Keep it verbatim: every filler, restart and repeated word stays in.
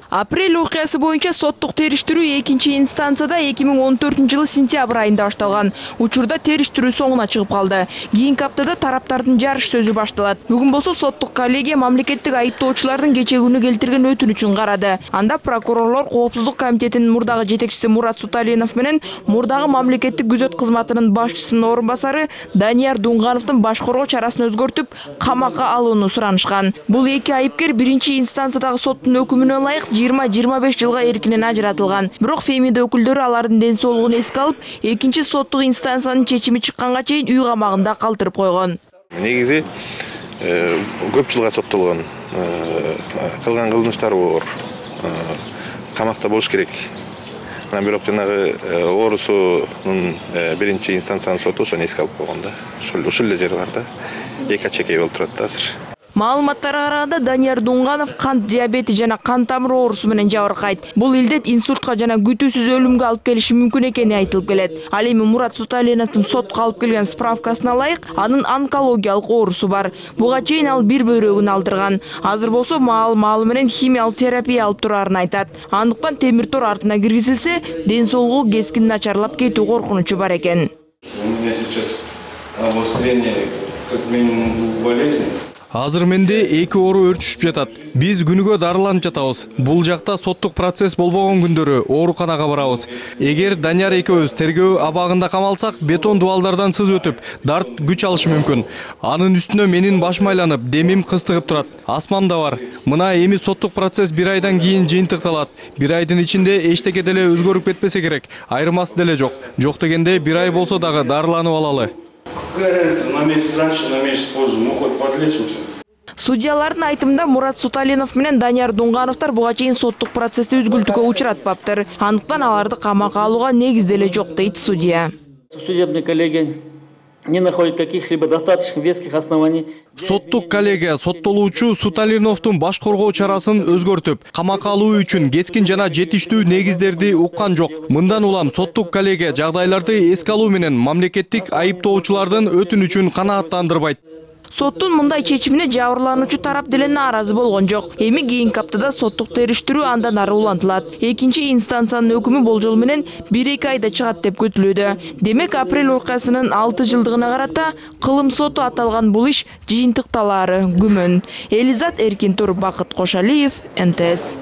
Апрель окуясы боюнча соттук териштирүү экинчи инстанцияда эки миң он төртүнчү жылы сентябрь айында башталган. Учурда териштирүү соңуна чыгып калды. Кийинки аптада тараптардын жарыш сөзү башталат. Бүгүн болсо соттук коллегия мамлекеттик айыптоочулардын кечээ күнү келтирген өтүнүчүн карады. Анда прокурорлор Коопсуздук комитетинин мурдагы жетекчиси Мурат Суталинов менен мурдагы мамлекеттик күзөт кызматынын башчысынын орун басары Данияр Дунгановдун баш коргоо чарасын өзгөртүп, камакка алууну суранышкан. Бул эки айыпкер биринчи инстанциядагы соттун өкүмүнө ылайык жыйырма жыйырма беш жылга эркинен ажыратылган. Бирок Фемида өкүлдөрү алардын ден соолугун эске алып, экинчи соттук инстанциянын чечими чыкканга чейин үй камагында калтырып койгон. Негизи көп жылга соттолгон, кылган кылмыштары бар. Камакта болуш керек. Бирок жанагы оорусунун биринчи инстанциянын соту ошону эске алып койгон да. Ошол ушул эле жери бар да. Эки ачекей болуп турат да азыр. Маалыматтарга караганда Данияр Дунганов кант диабети жана кан тамыры оорусу менен жабыркайт. Бул илдет инсультка жана күтүүсүз өлүмгө алып келиши мүмкүн экени айтылып келет. Ал эми Мурат Суталиновдун сотко алып келген справкасына ылайык анын онкологиялык оорусу бар. Буга чейин ал бир бөйрөгүн алдырган. Азыр болсо маал маалы менен химиялык терапия алып турарын айтат. Андыктан темир тор артына киргизилсе, ден соолугу кескин начарлап кетүү коркунучу бар экен. У меня сейчас обострение как минимум двух болезней. Азыр менде эки оору өрчүшүп жатат. Биз күнүгө дарыланып жатабыз. Бул жакта соттук процесс болбогон күндөрү ооруканага барабыз. Эгер Данияр экөөбүз тергөө абагында камалсак, бетон дубалдардан сыз өтүп, дарт күч алышы мүмкүн. Анын үстүнө менин башым айланып, демим кыстыгып турат. Астмам да бар. Мына эми соттук процесс бир айдан кийин жыйынтыкталат. Бир айдын ичинде эчтеке деле өзгөрүп кетпесе керек. Айырмасы деле жок. Жок дегенде бир ай болсо дагы дарыланып алалы. Какая разница, на месяц раньше, на месяц позже, мы хоть подлечимся. Судьялардын айтымында Мурат Суталинов менен Данияр Дунгановдор буга чейин соттук процессти үзгүлтүккө учуратпаптыр. Андыктан аларды камакка алууга негиз деле жок, дейт судья. Судебная коллегия не находит каких-либо достаточно веских оснований. Соттук коллегия соттолуучу Суталиновдун баш коргоо чарасын өзгөртүп, камакка алуу үчүн кескин жана жетиштүү негиздерди уккан жок. Мындан улам соттук коллегия жагдайларды эске алуу менен мамлекеттик айыптоочулардын өтүнүчүн канааттандырбайт. Соттун мындай чечимине жабырлануучу тарап деле нааразы болгон жок. Эми кийинки аптада соттук териштирүү андан ары улантылат. Экинчи инстанциянын өкүмү болжол менен бир эки айда чыгат деп күтүлүүдө. Демек, апрель окуясынын алты жылдыгына карата кылым соту аталган бул иш жыйынтыкталаары күмөн. Элизат Эркин Тур, Бакыт Кошалиев, Н Т С.